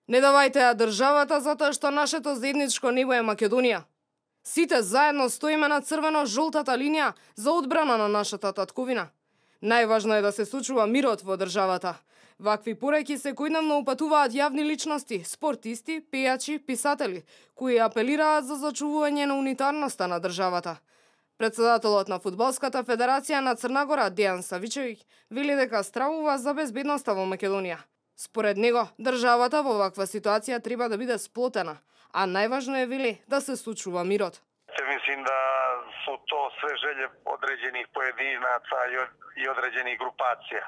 Не давајте ја државата затоа што нашето заедничко небо е Македонија. Сите заедно стоиме на црвено-жолтата линија за одбрана на нашата татковина. Најважно е да се сочува мирот во државата. Вакви пореки секојдневно упатуваат јавни личности, спортисти, пејачи, писатели, кои апелираат за зачувување на унитарноста на државата. Председателот на Фудбалската федерација на Црна Гора, Дејан Савичевиќ, вели дека стравува за безбедноста во Македонија. Според него, државата во ваква ситуација треба да биде сплотена, а најважно е, вели, да се сочува мирот. Мислим да су то све желје одреđenih поединаца и одреđenih групација.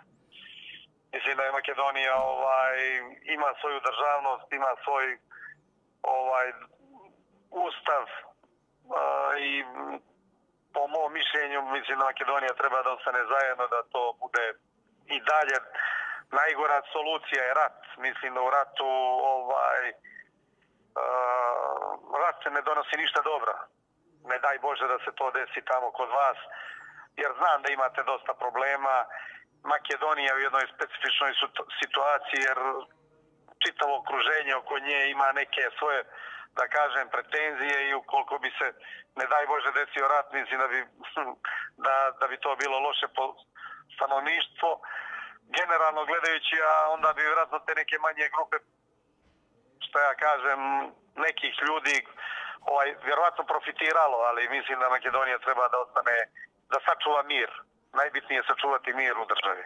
Мислим да Македонија има своју државност, има свој устав и по мојом мишљењу мислим да Македонија треба да остане заедно, да то буде и дале. Најгора солуција е рат. Мислим да у рату рат не доноси ништа добро. Не дај Боже да се тоа деси тамо код вас, jer знам да имате доста проблема. Македонија е во едној специфичној ситуација, jer читаво окружење окоње има неке своје, да кажем, претензија и уколку би се, не дај Боже, десио рат, мислим да би тоа било лоше по становништво. Генерално гледајќи, онда би веројатно те неке мање групе, што ја кажем, неких људи веројатно профитирало, али мислим да Македонија треба да остане, да сачува мир. Најбитниот е сачувати мир у држави.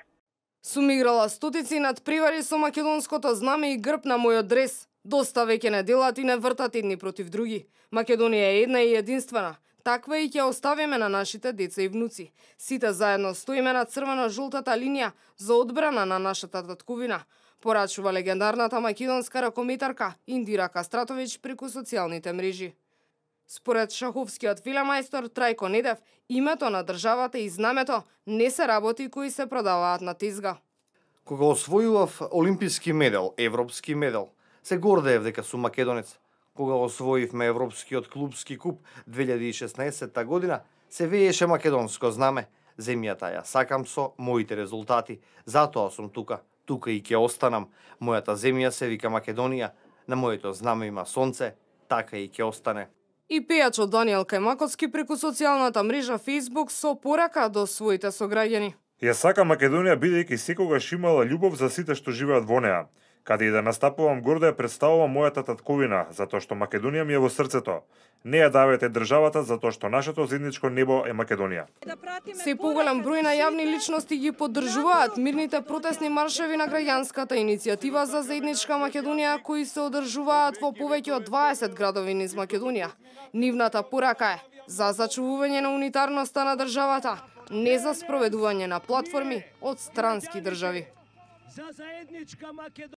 Сум играла стотици надпревари со македонското знаме и грб на мојот дрес. Доста веќе не делат и не вртат едни против други. Македонија е една и единствена. Таква и ќе оставиме на нашите деца и внуци. Сите заедно стоиме на црвено-жолтата линија за одбрана на нашата татковина, порачува легендарната македонска ракометарка Индира Кастратовиќ преку социјалните мрежи. Според шаховскиот велемајстор Трајко Недев, името на државата и знамето не се работи кои се продаваат на тезга. Кога освојував олимписки медал, европски медал, се гордеев дека сум македонец. Кога освоивме Европскиот клубски куп 2016 година, се вееше македонско знаме. Земјата ја сакам со моите резултати. Затоа сум тука. Тука и ќе останам. Мојата земја се вика Македонија. На моето знаме има сонце. Така и ќе остане. И пејачот Даниел Кајмаковски преку социјалната мрежа Facebook со порака до своите сограѓани. Ја сакам Македонија бидејќи секогаш имала љубов за сите што живеат во неа. Каде и да настапувам, гордо ја представувам мојата татковина, затоа што Македонија ми е во срцето. Не ја давајте државата затоа што нашето заедничко небо е Македонија. Се поголем број на јавни личности ги поддржуваат мирните протестни маршеви на граѓанската иницијатива за заедничка Македонија, кои се одржуваат во повеќе од 20 градови низ Македонија. Нивната порака е за зачувување на унитарноста на државата, не за спроведување на платформи од странски држави.